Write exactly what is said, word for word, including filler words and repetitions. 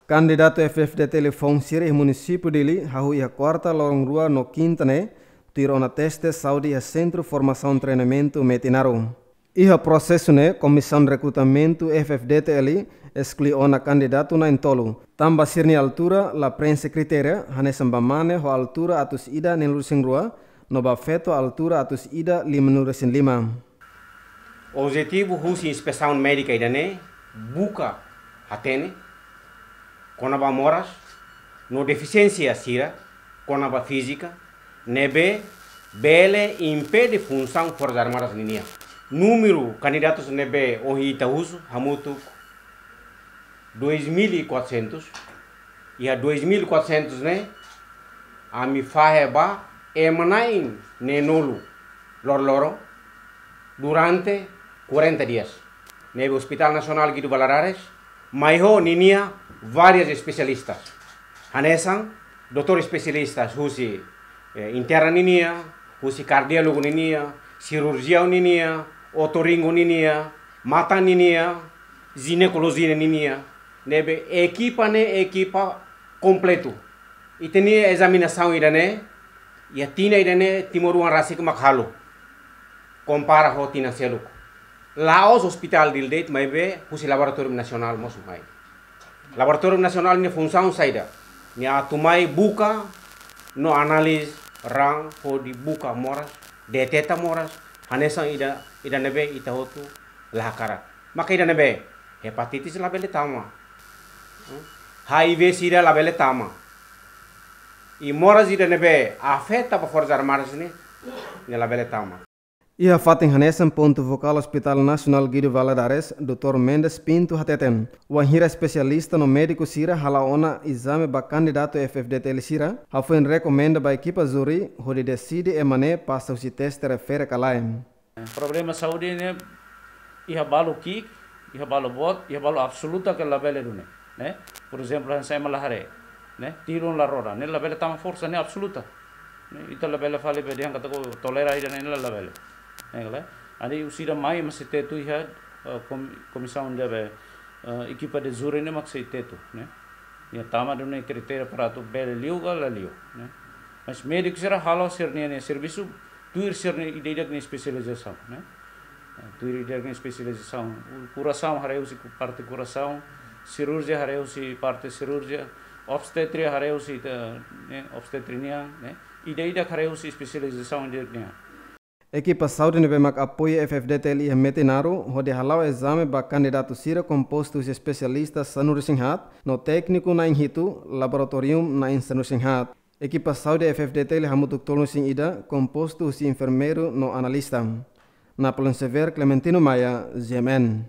Kandidatu F-FDTL foun sira iha munisípiu Dili hahú iha kuarta loron rua no kinta ne'e, tuir ona teste saúde iha Sentru Formasaun Treinamentu Metinaro. Iha prosesu ne'e, Komisaun Rekrutamentu F-FDTL esklui ona kandidatu na'in-tolu, tanba sira-nia altura la preenxe kritéria, hanesan ba mane ho altura atus ida neenulu-resin-rua, no ba feto altura atus ida limanulu-resin-lima. Objetivu husi inspesaun médika ida-ne'e buka hatene kona-ba moras no defisiénsia sira kona-ba fízika ne'ebé bele impede funsaun Forsas Armadas ninian. Númeru kandidatus ne'ebé ohin ita husu hamutuk dois mil e quatrocentos. Iha dois mil e quatrocentos ne'e, ami fahe ba ema na'in neenulu loroloron durante quarenta dias. Ne'ebé Hospital Nasionál Guido Valadares mai ho ninia várias espesialistas. Hanesan doutór espesialistas husi, eh, interna ninia, husi kardiólogu ninia, sirurjiaun ninia, otorinolaringu ninia, matan ninia, jinekolojia ninia, ne'ebé ekipa ne'e ekipa kompletu. Ita-nia ezaminasaun ida-ne'e, iha tinan ida-ne'e timoroan rasik mak halo, kompara ho tinan seluk. La'ós Hospital Dili de'it, maibé husi Laboratóriu Nasionál mós mai. Laboratóriu Nasionál nia funsaun saida? Nia atu mai buka no analiza raan hodi buka moras, deteta moras, hanesan ida, ida ne'ebé ita hotu la hakarak. Maka ida ne'ebé hepatitis labele tama. Hmm? H I V sida labele tama. I moras ida ne'ebé afeta ba Forsas Armadas ne'e, ne'e labele tama. Iha fatin hanesan, pontu fokál Hospital Nasionál Guido Valadares, doutór Mendes Pinto hateten, wainhira espesialista no médiku sira hala'o ona ezame ba kandidatu F-FDTL sira, hafoin rekomenda ba ekipa júri hodi deside ema ne'e pasa husi teste refere ka lae. Problema saúde ne'e iha balu ki'ik, iha balu boot, iha balu absoluta ke labele duni, ne'e? Por ezemplu, hanesan ema la haree, ne'e? Tilun la roda, ne'e labele tama forsa, ne'e absoluta. Ne'e? Ita labele fali be dehan katak tolera ida-ne'e, ne'e labele. Ne'e ka lae? Entaun husi ida mai mak sei tetu iha, eh, kom-, komisaun de be, eh, ekipa de júri ne'e mak sei tetu, ne'e? Nia tama duni kritéria para atu bele liu ka la liu, ne'e? Mas médiku sira halo sira-nia, nia servisu tuir sira-nia ida-idak nia espesializasaun, ne'e? Tuir ida-idak nia espesializasaun. Korasaun haree husi ku-, parte korasaun, sirurjia haree husi parte sirurjia, obstetria haree husi, eh, ne'e, obstetria nian, ne'e? Ida-idak haree husi espesializasaun ida-idak nian. Ekipa saúde ne'ebé mak apoia F-FDTL iha Metinaro hodi hala'o ezame ba kandidatu sira kompostu husi espesialista sanulu-resin-haat no tékniku na'in-hitu, laboratóriu na'in sanulu-resin-haat. Ekipa saúde F-FDTL hamutuk tolunulu-resin-ida, kompostu husi enfermeiru no analista. Napoleon Xavier, Clementino Maia, G M N.